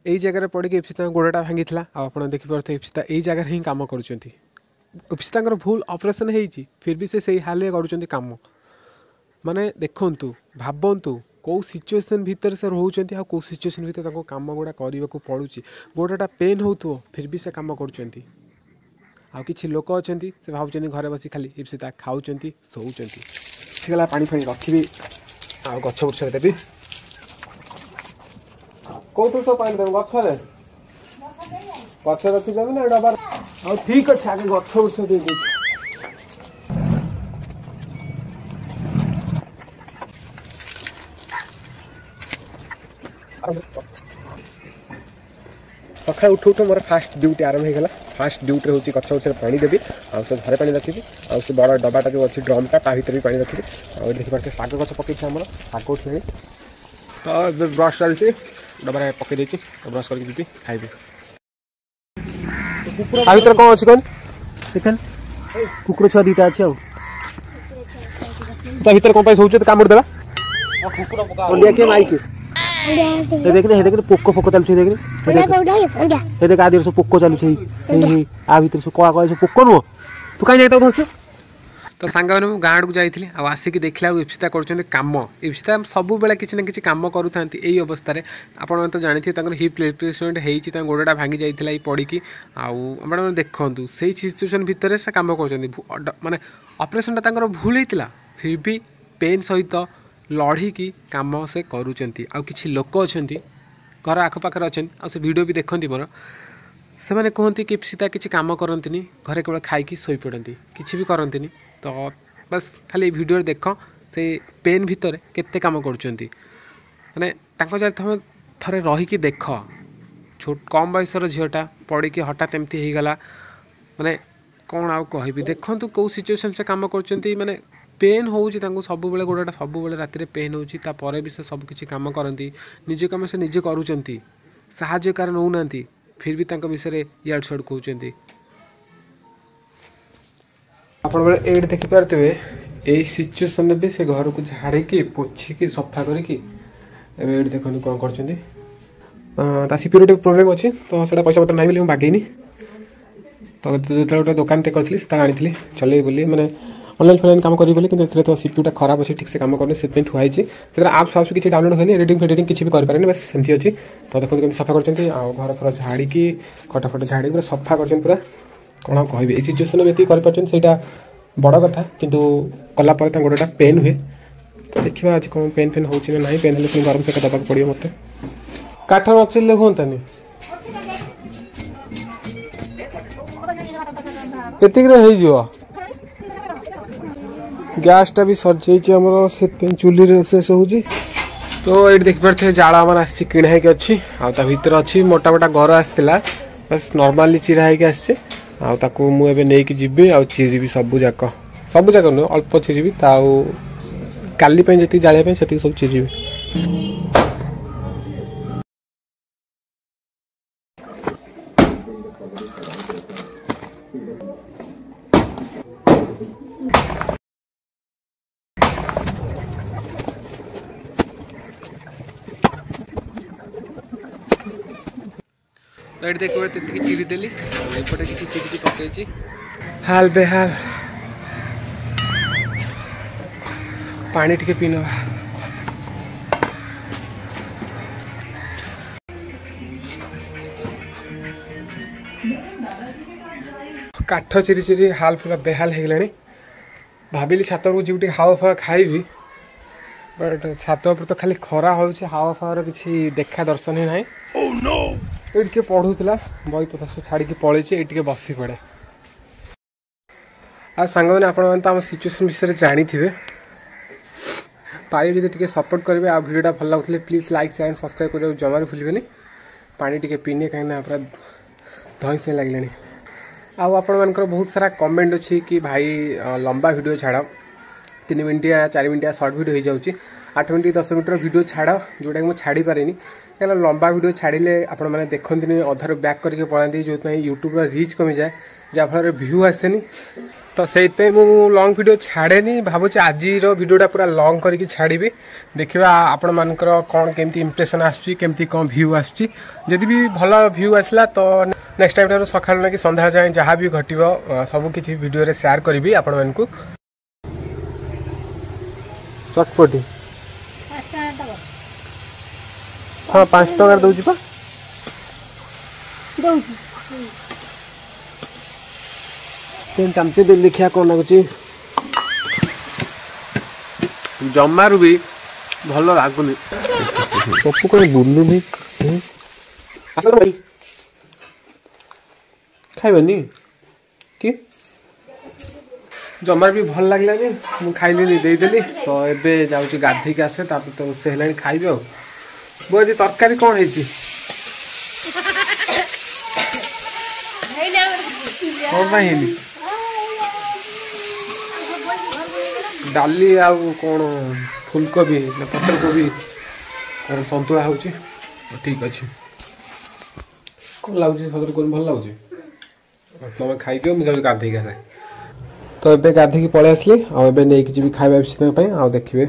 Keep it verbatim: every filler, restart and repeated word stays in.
ଏଇ ଜାଗାରେ ପଡ଼ିକି ଇପ୍ସିତାଙ୍କ ଗୋଡ଼ଟା ଭାଙ୍ଗିଥିଲା। ଆଉ ଆପଣ ଦେଖିପାରୁଥିବେ ଇପ୍ସିତା ଏଇ ଜାଗାରେ ହିଁ କାମ କରୁଛନ୍ତି। ଇପ୍ସିତାଙ୍କର ଭୁଲ ଅପରେସନ୍ ହେଇଛି, ଫିର୍ ବି ସେ ସେଇ ହାଲରେ କରୁଛନ୍ତି କାମ। ମାନେ ଦେଖନ୍ତୁ, ଭାବନ୍ତୁ କେଉଁ ସିଚୁଏସନ୍ ଭିତରେ ସେ ରହୁଛନ୍ତି ଆଉ କେଉଁ ସିଚୁଏସନ୍ ଭିତରେ ତାଙ୍କୁ କାମ ଗୁଡ଼ା କରିବାକୁ ପଡ଼ୁଛି। ଗୋଡ଼ଟା ପେନ୍ ହେଉଥିବ, ଫିର୍ ବି ସେ କାମ କରୁଛନ୍ତି। ଆଉ କିଛି ଲୋକ ଅଛନ୍ତି, ସେ ଭାବୁଛନ୍ତି ଘରେ ବସି ଖାଲି ଇପ୍ସିତା ଖାଉଛନ୍ତି, ଶୋଉଛନ୍ତି। ହେଇଗଲା, ପାଣି ଫାଣି ରଖିବି ଆଉ ଗଛ ବୁଛରେ ଦେବି। କୋଉଥିରେ ସବୁ ପାଣି ଦେବୁ? ଗଛରେ ଗଛ ରଖିଦେବି ନା ଡବା? ହଉ ଠିକ୍ ଅଛି, ଆଗେ ଗଛ ବୁଛ ଦେଇଦେଉଛି। ସକାଳୁ ଉଠୁ ଉଠୁ ମୋର ଫାଷ୍ଟ ଡ୍ୟୁଟି ଆରମ୍ଭ ହେଇଗଲା। ଫାଷ୍ଟ ଡ୍ୟୁଟିରେ ହେଉଛି ଗଛ ଗଛରେ ପାଣି ଦେବି, ଆଉ ସେ ଘରେ ପାଣି ରଖିବି, ଆଉ ସେ ବଡ଼ ଡବାଟା ଯେଉଁ ଅଛି ଡ୍ରମ୍ଟା, ତା ଭିତରେ ବି ପାଣି ରଖିବି। ଆଉ ଏଠି ଦେଖିପାରୁଥିବେ ଶାଗ ଗଛ ପକେଇଛି, ଆମର ଶାଗ ଉଠିଲାଣି। ତ ଏବେ ବ୍ରସ୍ ଚାଲିଛି, ଡବାରେ ପକେଇ ଦେଇଛି, ବ୍ରସ୍ କରିକି ଯିବି ଖାଇବି। ତା ଭିତରେ କ'ଣ ଅଛି କହନି? ଦେଖେন, କୁକୁର ଛୁଆ ଦିଟା ଅଛି। ଆଉ ତା ଭିତରେ କ'ଣ ପାଇଁ ଶୋଉଛୁ? କାମୁଡ଼ି ଦେଲା। ଅଣ୍ଡିଆ କିଏ ମାଇକି? ଏ ଦେଖିଲେ, ହେ ଦେଖିଲେ, ପୋକ ଫୋକ ଚାଲୁଛି ଦେଖିଲେ। ହେ ଦେଖ, ଆ ଦେହରେ ସବୁ ପୋକ ଚାଲୁଛି। ହେଇ ହେଇ, ଆ ଭିତରେ ସବୁ କଳା କଳା ସବୁ ପୋକ ନୁହଁ? ତୁ କାହିଁ ଯାଇ ତାକୁ ଧରୁଛୁ? ତ ସାଙ୍ଗମାନେ, ମୁଁ ଗାଁ ଆଡ଼କୁ ଯାଇଥିଲି ଆଉ ଆସିକି ଦେଖିଲା ବେଳକୁ ଇପ୍ସିତା କରୁଛନ୍ତି କାମ। ଇପ୍ସିତା ସବୁବେଳେ କିଛି ନା କିଛି କାମ କରୁଥାନ୍ତି ଏଇ ଅବସ୍ଥାରେ। ଆପଣମାନେ ତ ଜାଣିଥିବେ ତାଙ୍କର ହିପ୍ ରିପ୍ଲେସମେଣ୍ଟ ହେଇଛି, ତାଙ୍କ ଗୋଡ଼ଟା ଭାଙ୍ଗି ଯାଇଥିଲା ଏଇ ପଡ଼ିକି। ଆଉ ଆପଣମାନେ ଦେଖନ୍ତୁ, ସେଇ ସିଚୁଏସନ୍ ଭିତରେ ସେ କାମ କରୁଛନ୍ତି। ମାନେ ଅପରେସନ୍ଟା ତାଙ୍କର ଭୁଲ ହେଇଥିଲା, ଫିର୍ ବି ପେନ୍ ସହିତ ଲଢ଼ିକି କାମ ସେ କରୁଛନ୍ତି। ଆଉ କିଛି ଲୋକ ଅଛନ୍ତି, ଘର ଆଖପାଖରେ ଅଛନ୍ତି, ଆଉ ସେ ଭିଡ଼ିଓ ବି ଦେଖନ୍ତି ମୋର, ସେମାନେ କୁହନ୍ତି କି ଇପ୍ସିତା କିଛି କାମ କରନ୍ତିନି, ଘରେ କେବଳ ଖାଇକି ଶୋଇପଡ଼ନ୍ତି, କିଛି ବି କରନ୍ତିନି। ତ ବାସ୍ ଖାଲି ଏଇ ଭିଡ଼ିଓରେ ଦେଖ ସେ ପେନ୍ ଭିତରେ କେତେ କାମ କରୁଛନ୍ତି। ମାନେ ତାଙ୍କ ଜାଗାରେ ତୁମେ ଥରେ ରହିକି ଦେଖ। ଛୋଟ କମ୍ ବୟସର ଝିଅଟା ପଡ଼ିକି ହଠାତ୍ ଏମିତି ହେଇଗଲା, ମାନେ କ'ଣ ଆଉ କହିବି। ଦେଖନ୍ତୁ କେଉଁ ସିଚୁଏସନ୍ ସେ କାମ କରୁଛନ୍ତି। ମାନେ ପେନ୍ ହେଉଛି ତାଙ୍କୁ ସବୁବେଳେ, ଗୋଡ଼ଟା ସବୁବେଳେ ରାତିରେ ପେନ୍ ହେଉଛି, ତାପରେ ବି ସେ ସବୁ କିଛି କାମ କରନ୍ତି। ନିଜ କାମ ସେ ନିଜେ କରୁଛନ୍ତି, ସାହାଯ୍ୟ କାହାର ନେଉନାହାନ୍ତି, ଫିର୍ ବି ତାଙ୍କ ବିଷୟରେ ଇଆଡ଼ୁ ସିଆଡ଼ୁ କହୁଛନ୍ତି। ଆପଣମାନେ ଏଇଠି ଦେଖିପାରୁଥିବେ, ଏଇ ସିଚୁଏସନ୍ରେ ବି ସେ ଘରକୁ ଝାଡ଼ିକି ପୋଛିକି ସଫା କରିକି ଏବେ ଏଇଠି ଦେଖନ୍ତୁ କ'ଣ କରୁଛନ୍ତି। ତା ସିପିର ଟିକେ ପ୍ରୋବ୍ଲେମ୍ ଅଛି, ତ ସେଇଟା ପଇସା ପତ୍ର ନାହିଁ ବୋଲି ମୁଁ ବାଗେଇନି। ତ ଯେତେବେଳେ ଗୋଟେ ଦୋକାନଟେ କରିଥିଲି, ସେତେବେଳେ ଆଣିଥିଲି ଚଲେଇବି ବୋଲି, ମାନେ ଅନଲାଇନ୍ ଫନଲାଇନ୍ କାମ କରିବି ବୋଲି। କିନ୍ତୁ ଏଥିରେ ତ ସିପିୟୁଟା ଖରାପ ଅଛି, ଠିକ୍ ସେ କାମ କରୁନି, ସେଥିପାଇଁ ଥୁଆ ହେଇଛି। ସେଥିରେ ଆପ୍ସ ଫାପ୍ସ କିଛି ଡାଉନଲୋଡ଼ ହୁଏନି, ଏଡ଼ିଟିଂ ଫେଡ଼ିଟିଂ କିଛି ବି କରିପାରେନି, ବାସ୍ ସେମିତି ଅଛି। ତ ଦେଖନ୍ତୁ କେମିତି ସଫା କରୁଛନ୍ତି, ଆଉ ଘର ଫର ଝାଡ଼ିକି ଖଟ ଫଟ ଝାଡ଼ିକି ପୁରା ସଫା କରିଛନ୍ତି ପୁରା। କ'ଣ ଆଉ କହିବି, ଏଇ ସିଚୁଏସନ୍ ଏତିକି କରିପାରୁଛନ୍ତି ସେଇଟା ବଡ଼ କଥା। କିନ୍ତୁ କଲା ପରେ ତାଙ୍କ ଗୋଡ଼ଟା ପେନ୍ ହୁଏ। ତ ଦେଖିବା ଆଜି କ'ଣ ପେନ୍ ଫେନ୍ ହେଉଛି ନା ନାହିଁ। ପେନ୍ ହେଲେ ପୁଣି ଗରମ ସେକା ଦେବାକୁ ପଡ଼ିବ ମୋତେ। କାଠ ନଚିଲେ ହୁଅନ୍ତାନି? ଏତିକିରେ ହେଇଯିବ। ଗ୍ୟାସ୍ଟା ବି ସରିଯାଇଛି ଆମର, ସେଥିପାଇଁ ଚୁଲିରେ ରୋଷେଇ ହେଉଛି। ତ ଏଇଠି ଦେଖିପାରୁଥିବେ ଜାଳ ଆମର ଆସିଛି, କିଣା ହେଇକି ଅଛି। ଆଉ ତା ଭିତରେ ଅଛି ମୋଟା ମୋଟା ଘର ଆସିଥିଲା, ବାସ୍ ନର୍ମାଲି ଚିରା ହେଇକି ଆସିଛି। ଆଉ ତାକୁ ମୁଁ ଏବେ ନେଇକି ଯିବି ଆଉ ଚିରିବି ସବୁ ଯାକ। ସବୁ ଯାକ ନୁହେଁ, ଅଳ୍ପ ଚିରିବି, ତା ଆଉ କାଲି ପାଇଁ ଯେତିକି ଜାଳିବା ପାଇଁ ସେତିକି ସବୁ ଚିରିବି। ତ ଏଠି ଦେଖିବ, ଏତିକି ଚିରିଦେଲି, ଆଉ ଏପଟେ କିଛି ଚିରିକି ପକେଇଛି। ହାଲ ବେହାଲ, ପାଣି ଟିକେ ପିଇ ନେବା। କାଠ ଚିରି ଚିରି ହାଲ ପୁରା ବେହାଲ ହେଇଗଲାଣି। ଭାବିଲି ଛାତ ଉପରକୁ ଯିବି, ଟିକେ ହାୱା ଫାୱା ଖାଇବି, ବଟ୍ ଛାତ ଉପରେ ତ ଖାଲି ଖରା ହେଉଛି, ହାୱା ଫାୱାର କିଛି ଦେଖା ଦର୍ଶନ ହିଁ ନାହିଁ। ଏଇଠି କିଏ ପଢ଼ୁଥିଲା, ବହି ପତ୍ର ସବୁ ଛାଡ଼ିକି ପଳେଇଛି। ଏଇଠି ଟିକେ ବସି ପଡ଼େ। ଆଉ ସାଙ୍ଗମାନେ, ଆପଣମାନେ ତ ଆମ ସିଚୁଏସନ୍ ବିଷୟରେ ଜାଣିଥିବେ। ପାରିବେ ଯଦି ଟିକେ ସପୋର୍ଟ କରିବେ, ଆଉ ଭିଡ଼ିଓଟା ଭଲ ଲାଗୁଥିଲେ ପ୍ଲିଜ୍ ଲାଇକ୍, ସେୟାର, ସବସ୍କ୍ରାଇବ୍ କରିବାକୁ ଜମାରୁ ଭୁଲିବେନି। ପାଣି ଟିକେ ପିଇନି, କାହିଁକିନା ପୁରା ଧଇଁ ସଇଁ ଲାଗିଲାଣି। ଆଉ ଆପଣମାନଙ୍କର ବହୁତ ସାରା କମେଣ୍ଟ ଅଛି କି ଭାଇ ଲମ୍ବା ଭିଡ଼ିଓ ଛାଡ଼, ତିନି ମିନିଟିଆ ଚାରି ମିନିଟିଆ ସର୍ଟ ଭିଡ଼ିଓ ହେଇଯାଉଛି, ଆଠ ମିନିଟ୍ ଦଶ ମିନିଟ୍ର ଭିଡ଼ିଓ ଛାଡ଼, ଯେଉଁଟାକି ମୁଁ ଛାଡ଼ିପାରେନି। କାହିଁକିନା ଲମ୍ବା ଭିଡ଼ିଓ ଛାଡ଼ିଲେ ଆପଣମାନେ ଦେଖନ୍ତିନି, ଅଧାରୁ ବ୍ୟାକ୍ କରିକି ପଳାନ୍ତି, ଯେଉଁଥିପାଇଁ ୟୁଟ୍ୟୁବ୍ର ରିଚ୍ କମିଯାଏ। ଯାହାଫଳରେ ଭ୍ୟୁ ଆସେନି। ତ ସେଇଥିପାଇଁ ମୁଁ ଲଙ୍ଗ୍ ଭିଡ଼ିଓ ଛାଡ଼େନି। ଭାବୁଛି ଆଜିର ଭିଡ଼ିଓଟା ପୁରା ଲଙ୍ଗ୍ କରିକି ଛାଡ଼ିବି। ଦେଖିବା ଆପଣମାନଙ୍କର କ'ଣ କେମିତି ଇମ୍ପ୍ରେସନ୍ ଆସୁଛି, କେମିତି କ'ଣ ଭ୍ୟୁ ଆସୁଛି। ଯଦି ବି ଭଲ ଭ୍ୟୁ ଆସିଲା, ତ ନେକ୍ସଟ ଟାଇମ୍ ଠାରୁ ସକାଳୁ ନେଇକି ସନ୍ଧ୍ୟା ଯାଏଁ ଯାହା ବି ଘଟିବ, ସବୁ କିଛି ଭିଡ଼ିଓରେ ସେୟାର କରିବି ଆପଣମାନଙ୍କୁ। ଚଟପଟି ହଁ, ପାଞ୍ଚ ଟଙ୍କାରେ ଦେଉଛି ପା। ଦଉଛି। ଚାମଚେ ଦେଲି, ଦେଖିବା କ'ଣ ଲାଗୁଛି। ଜମାରୁ ବି ଭଲ ଲାଗୁନି। ପପୁ କ'ଣ ବୁଲୁନି? ଖାଇବନି କି? ଜମାରୁ ବି ଭଲ ଲାଗିଲାନି, ମୁଁ ଖାଇଲିନି, ଦେଇଦେଲି। ତ ଏବେ ଯାଉଛି ଗାଧେଇକି ଆସେ, ତାପରେ ତ ରୋଷେଇ ହେଲାଣି, ଖାଇବି। ଆଉ ବୋଉ, ଆଜି ତରକାରୀ କ'ଣ ହେଇଛି? କ'ଣ ପାଇଁ ହେଇନି? ଡାଲି ଆଉ କ'ଣ ଫୁଲକୋବି ନା ପତ୍ରକୋବି କ'ଣ ସନ୍ତୁଳା ହେଉଛି। ଠିକ୍ ଅଛି। କ'ଣ ଲାଗୁଛି ସତରେ? କ'ଣ ଭଲ ଲାଗୁଛି? ତମେ ଖାଇଦିଅ, ମୁଁ ଯାଉଛି ଗାଧେଇକି ଆସେ। ତ ଏବେ ଗାଧେଇକି ପଳେଇ ଆସିଲି, ଆଉ ଏବେ ନେଇକି ଯିବି ଖାଇବା ବିଷୟ ପାଇଁ। ଆଉ ଦେଖିବେ